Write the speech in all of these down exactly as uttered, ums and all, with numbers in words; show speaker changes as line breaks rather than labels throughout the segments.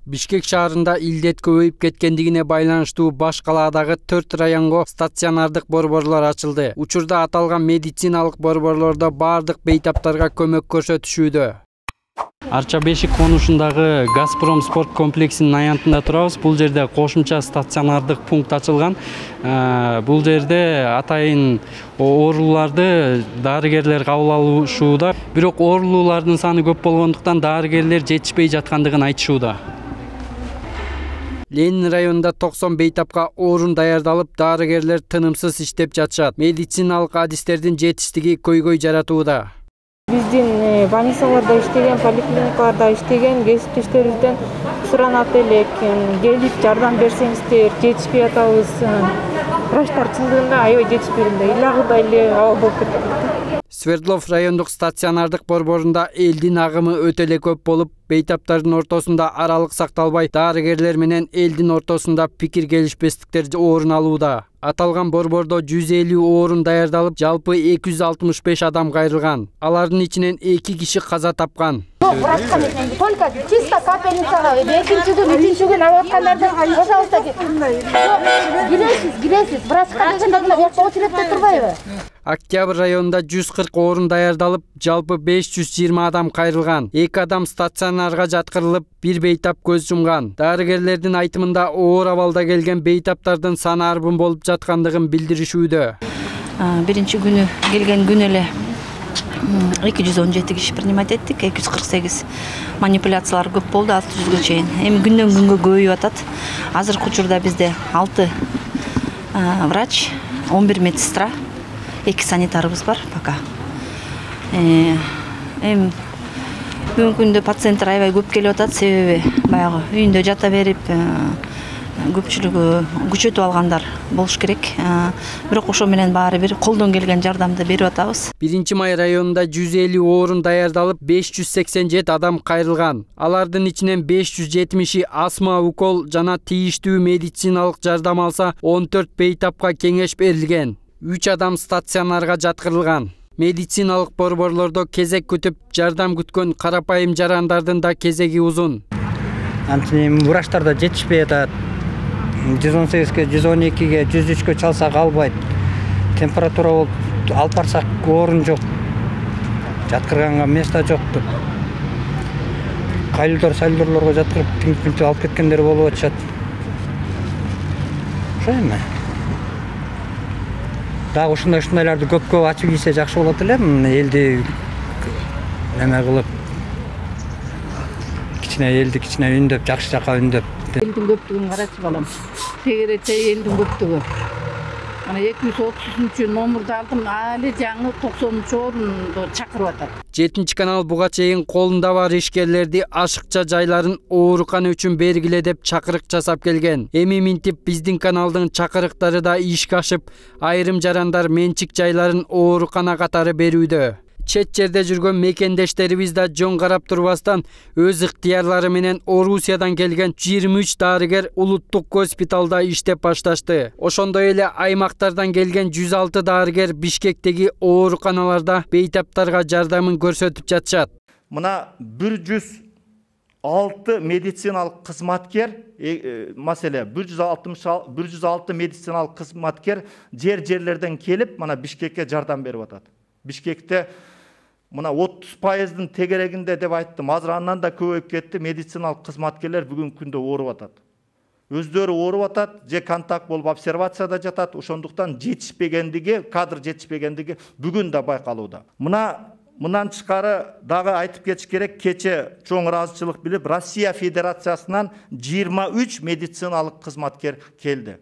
Бишкек шаарында илдет көбөйүп кеткендигине байланыштуу баш калаадагы төрт районго стационардык борборлор ачылды. Учурда аталган медициналык борборлордо бардык бейтаптарга көмөк көрсөтүшүүдө. Арча бешик конушундагы Газпром спорт комплексинин аянтында турабыз. Бул жерде кошумча стационардык пункт ачылган. Бул жерде атайын ооруларды дарыгерлер кабыл алышууда. Бирок оорулуулардын саны көп болгондуктан дарыгерлер жетишпей жаткандыгын айтышууда. Ленин районунда токсон бейтапка орун даярдалып, дарыгерлер тынымсыз иштеп жатышат. Медициналык адистердин жетиштиги көйгөй жаратууда.
Биздин больницаларда иштеген, поликлиникаларда иштеген кесиптештерибизден суранат элек, келип жардам берсеңиздер, жетишпей атабыз. Врачтар чындыгында аябай жетишпейт, ыйлагыдай эле абал болуп кетти.
Свердлов райондук стационардык борборунда элдин агымы өтө эле көп болуп, бейтаптардын ортосунда аралык сакталбай, дарыгерлер менен элдин ортосунда пикир келишпестиктер орун алууда. Аталган борбордо жүз элүү орун даярдалып, жалпы эки жүз алтымыш беш адам кайрылган. Алардын ичинен эки киши каза тапкан.
Врачка менен только чисто капельницага экинчи күн, үчүнчү күн абаткандарды, пожалуйста, киресиз, киресиз, врачка дегенде мына бияка очередте турбайбы?
Октябрь районунда жүз кырк орун даярдалып, жалпы беш жүз жыйырма адам кайрылган. эки адам стационарга жаткырылып, бир бейтап көз жумган. Дарыгерлердин айтымында оор абалда келген бейтаптардын саны арбын болуп жаткандыгын билдиришүүдө.
Биринчи күнү келген күн эле эки жүз он жети киши принимать эттик, эки жүз кырк сегиз. Манипуляциялар көп болду, алты жүзгө чейин. Эми күндөн күнгө көбөйүп атат. Азыркы учурда бизде алты врач, он бир медсестра, эки санитарыбыз бар пока. Эми бүгүнкү күндө пациенттер аябай көп келип атат, себеби баягы үйүндө жата берип, көпчүлүгү күчөтүп алгандар болуш керек. Бирок ошо менен баары бир колдон келген жардамды берип атабыз.
биринчи май районунда жүз элүү орун даярдалып, беш жүз сексен жети адам кайрылган. Алардын ичинен беш жүз жетимиши астма, укол жана тийиштүү медициналык жардам алса, он төрт бейтапка кеңеш берилген. үч адам стационарга жаткырылган. Медициналык борборлордо кезек күтүп, жардам күткөн карапайым жарандардын да кезеги узун.
Антип врачтар да жетишпей атат. жүз он сегизге, жүз он экиге, жүз үчкө чалсак албайт. Температура болуп алып барсак орун жок. Жаткырганга место жок. Кайлдор, сайлдорлорго жаткырып, тинтип алып кеткендер болуп атышат. Ошо эми. Дагы ушундай ушундайларды көп-көп ачып ийсе жакшы болот эле. Элди неме кылып, кичине элди кичине үндөп, жакшы жака үндөп.
Элдин көптүгүн карачы балам. Тегерече элдин көптүгү. Ана эки жүз отуз үчүнчү номурду алдым, али жаңы токсонунчу орунду чакырып атат.
жетинчи канал буга чейин колунда бар ишкерлерди ашыкча жайларын оорукана үчүн бергиле деп чакырык жасап келген. Эми минтип биздин каналдын чакырыктары да ишке ашып, айрым жарандар менчик жайларын оорукана катары берүүдө. Чет жерде жүргөн мекендештерибиз да жөн карап турбастан өз ыктыярлары менен Орусиядан келген жыйырма үч дарыгер улуттук госпиталда иштеп башташты. Ошондой эле аймактардан келген жүз алты дарыгер Бишкектеги ооруканаларда бейтаптарга жардамын көрсөтүп жатышат.
Мына бир жүз алты медициналык кызматкер, маселе бир жүз алты медициналык кызматкер жер-жерлерден келип, мына Бишкекке жардам берип атат. Бишкекте мына отуз пайыздын тегерегинде деп айттым. Азыр андан да көбөйүп кетти. Медициналык кызматкерлер бүгүнкү күндө ооруп атат. Өздөрү ооруп атат, же контакт болуп обсервацияда жатат. Ошондуктан жетишпегендиги, кадр жетишпегендиги бүгүн да байкалууда. Мына мындан тышкары дагы айтып кетиш керек, кече чоң ыраазычылык билип, Россия Федерациясынан жыйырма үч медициналык кызматкер келди.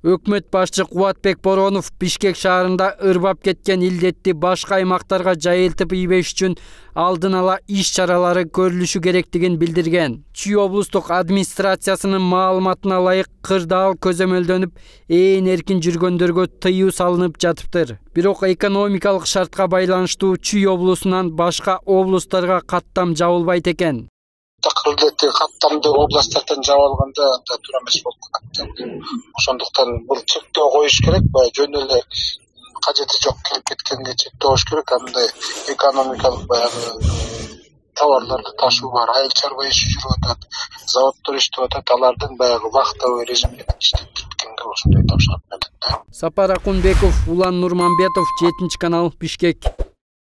Өкмөт башчы Кубатбек Боронов Бишкек шаарында ырбап кеткен илдетти башка аймактарга жайылтып ийбеш үчүн алдын ала иш чаралары көрүлүшү керектигин билдирген. Чүй облустук администрациясынын маалыматына ылайык кырдаал көзөмөлдөнүп, ээн эркин жүргөндөргө тыюу салынып жатыптыр. Бирок экономикалык шартка байланыштуу Чүй облусунан башка облустарга каттам жабылбайт экен.
Такырдети каттамды областтардан жабылганда да туура эмес болуп калат. Ошондуктан бул чектөө коюш керек, баягы жөн эле кажети жок келип кеткенге чектөө коюш керек. Андай экономикалык баягы товарларды ташуу бар, айыл чарба иши жүрүп атат, заводдор иштеп атат, алардын баягы вахтовый режим менен иштеп кеткенге ошондой тапшырык бердик да.
Сапар Акунбеков, Улан Нурманбетов, жетинчи канал, Бишкек.